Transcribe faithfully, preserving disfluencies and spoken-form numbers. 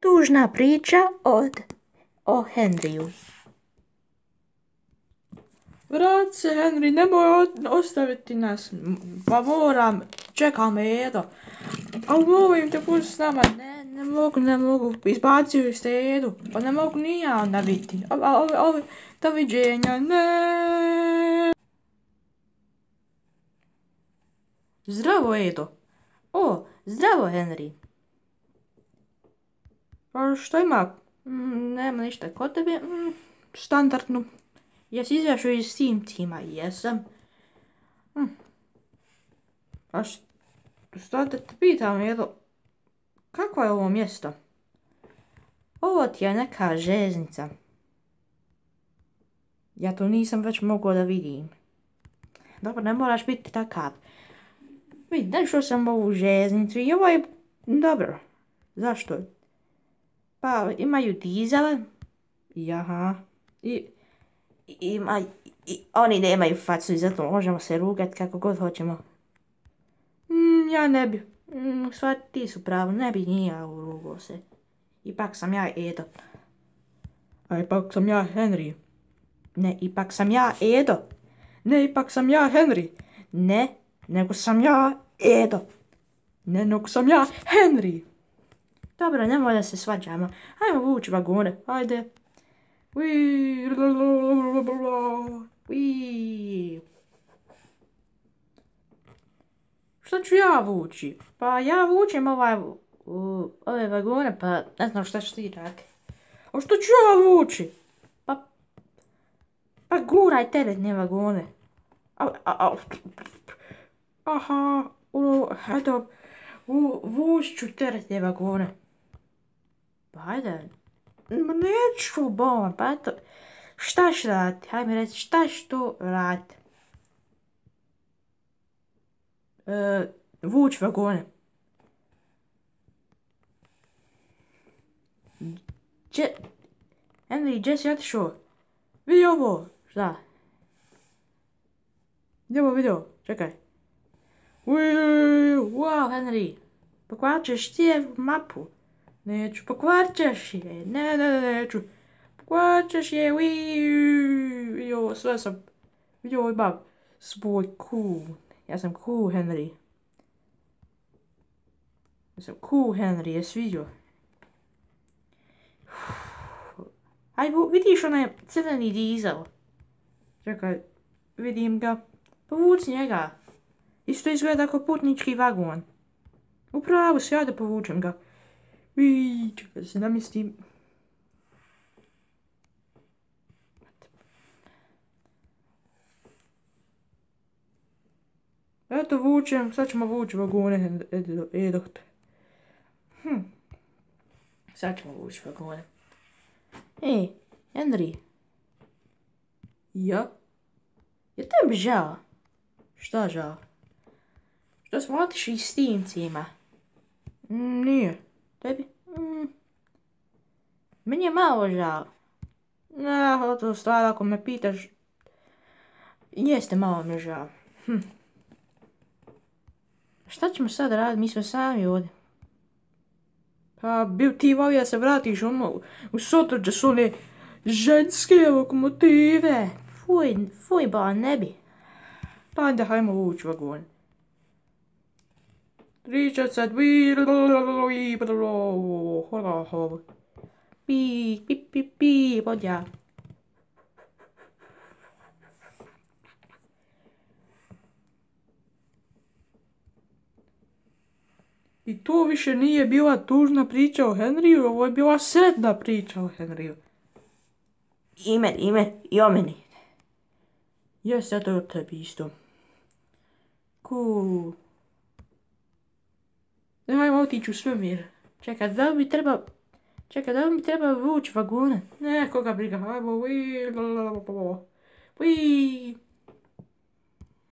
Tužna priča od o Henriju. Vrat se, Henry, nemoj ostaviti nas. Pa moram, čeka me Edo. Ali molim te, pusti s nama. Ne, ne mogu, ne mogu. Izbacio ste Edu. Pa ne mogu ni ja onda biti. Ovi, ovi, doviđenja, ne. Zdravo, Edo. O, zdravo, Henry. Pa što ima? Mm, nema ništa kod tebe. Mm, Standardno. jesi izašao iz Steam tima? Jesam. Hm. A šta te pitam, Edo? Kako je ovo mjesto? Ovo ti je neka željeznica. Ja to nisam već mogao da vidim. Dobro, ne moraš biti takav. Vidi, našao sam ovu željeznicu i ovo je dobro. Zašto? Pa imaju dizele. Jaha. I, i, ima, i oni nemaju facu i zato možemo se rugati kako god hoćemo. Mm, ja ne bi. Mm, sva ti su pravo, ne bi ni ja urugao se. Ipak sam ja Edo. A ipak sam ja Henry. Ne, ipak sam ja Edo. Ne, ipak sam ja Henry. Ne, nego sam ja Edo. Ne, nego sam ja Henry. Dobro, nemoj da se svađamo. Hajmo vući vagone, ajde. Ui, Ui. Šta ću ja vući? Pa ja vučem ovaj, u, ove vagone, pa ne znam šta ću ti raditi. A što ću ja vući? Pa, pa guraj teretne vagone. A, a, a, aha, u, eto, u, vuću teretne vagone. Pa hajde. Ma neću. Bom, pa eto, šta ću raditi? Hajde mi reći, šta ću tu raditi? E, vuć vagone. Če... Henry, gdje si otišao? Vidi ovo. Šta? Gdje ovo video? Čekaj. Ui, Wow, Henry, pokvarit ćeš cijelu mapu. neću. Pokvarit ćeš je. Ne, ne, ne, neću. Pokvarit ćeš je. Ui, vidi ovo, sve sam. Vidi ovo imam svoj cool. Ja sam cool, Henry. Ja sam cool, Henry, jesi vidio? Aj, vidiš onaj crveni dizel? Čekaj, vidim ga. Povuci njega. Isto izgleda kao putnički vagon. Upravo si, ja da povučem ga. Ui, čekaj da se namjestim. Eto vučem, sad ćemo vući vagone, Edo. Hm. Sad ćemo vući vagone. Ej, Henry. Ja? Je tebi žao? Šta žao? Što smo otišli s Steamcima? Mm, nije. Tebi? Mm. Meni je malo žao. Ne, to stvar ako me pitaš. Jeste malo mi žao. Hm. Šta ćemo sad raditi? Mi smo sami ovdje. Pa bi ti volio da se vratiš ono u Sotor gdje su one ženske lokomotive. Fuj, fuj ba, ne bi. Pa onda hajmo vući vagon. Pričat sad, pi, pi, pi, pi, podja. I to više nije bila tužna priča o Henryu, ovo je bila sretna priča o Henryu. I meni, i meni, i o meni. Jes, ja to o tebi isto. Cool. Ne, hajmo otići u svemir. Čekaj, da li mi treba... Čekaj, da li mi treba vući vagone? Ne, koga briga, hajmo, ui, ui.